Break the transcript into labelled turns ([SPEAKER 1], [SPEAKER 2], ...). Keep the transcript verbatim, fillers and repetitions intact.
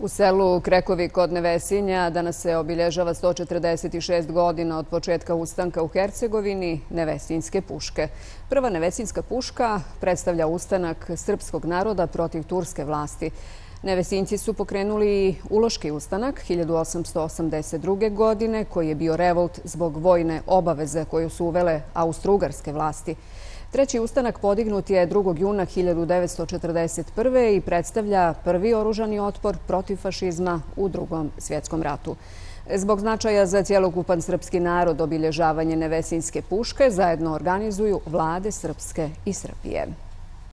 [SPEAKER 1] U selu Krekovi kod Nevesinja danas se obilježava sto četrdeset šest godina od početka ustanka u Hercegovini Nevesinjske puške. Prva Nevesinjska puška predstavlja ustanak srpskog naroda protiv turske vlasti. Nevesinjci su pokrenuli uloški ustanak hiljadu osamsto osamdeset druge. godine, koji je bio revolt zbog vojne obaveze koju su uvele austrougarske vlasti. Treći ustanak podignut je drugog juna hiljadu devetsto četrdeset prve. i predstavlja prvi oružani otpor protiv fašizma u Drugom svjetskom ratu. Zbog značaja za cjelokupan srpski narod obilježavanje Nevesinjske puške zajedno organizuju vlade Srpske i Srbije.